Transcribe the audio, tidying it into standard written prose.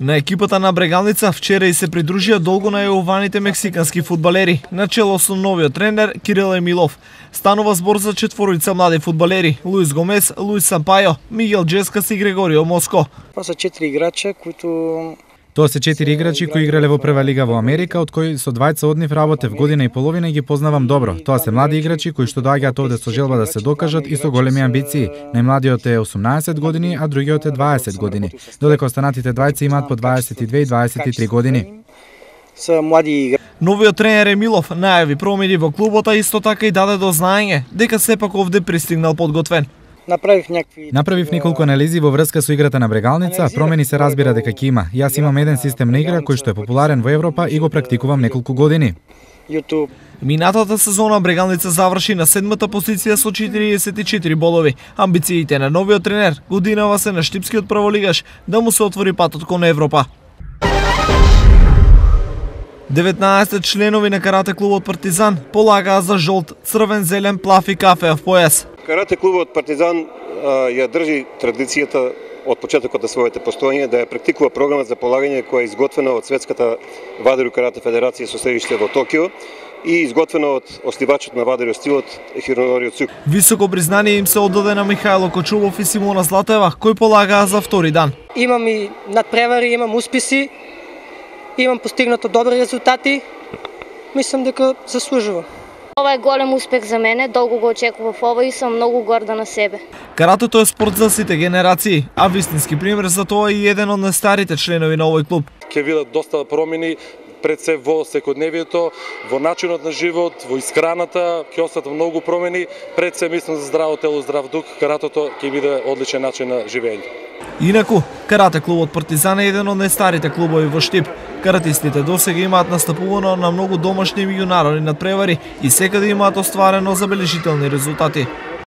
На екипата на Брегалница вчера и се придружија долго најавуваните мексикански фудбалери, начело со новиот тренер Кирил Емилов. Станува збор за четворица млади фудбалери: Луис Гомес, Луис Сампајо, Мигел Джескас и Грегорио Моско. Това се 4 играча които Тоа се 4 играчи кои играле во прва лига во Америка, од кои со двајца од нив работев година и половина и ги познавам добро. Тоа се млади играчи кои што доаѓаат овде со желба да се докажат и со големи амбиции. Најмладиот е 18 години, а другиот е 20 години. Додека останатите двајца имаат по 22 и 23 години. са млади играчи. Новиот тренер Емилов најави промени во клубот, а исто така и даде до знаење дека сепак овде пристигнал подготвен. Направив неколку анализи во врска со играта на Брегалница, промени се разбира дека ќе има. Јас имам еден систем на игра кој што е популарен во Европа и го практикувам неколку години. Минатата сезона Брегалница заврши на 7-та позиција со 44 боломи. Амбициите на новиот тренер годинава се на штипскиот прволигаш да му се отвори патот кон Европа. 19 членови на карате клубот Партизан полагаа за жолт, црвен, зелен, плав и кафеав појас. Карате клубот Партизан ја држи традицијата од почетокот на своето постоење да ја практикува програма за полагање која е изготвена од Светската вадерио карате федерација со седиште во Токио и изготвена од основачот на вадерио стилот Хиронори Цук. Високо признание им се оддаде на Михајло Кочубов и Симона Златева, кои полагаа за втори дан. Имам и надпревари, имам успеси, имам постигнато добри резултати. Мислам дека заслужувам. Ова е голем успех за мене, долго го очекував ова и сум многу горда на себе. Каратето е спорт за сите генерации, а вистински пример за тоа е и еден од најстарите членови на овој клуб. Ќе видат доста промени пред се во секојдневието, во начинот на живот, во исхраната, ќе остат многу промени. Пред се мислам за здраво тело, здрав дух, каратото ќе биде одличен начин на живење. Инаку, карате клубот Партизан е еден од најстарите клубови во Штип. Каратистите досега имаат настапувано на многу домашни и меѓународни надпревари и секаде имаат остварено забележителни резултати.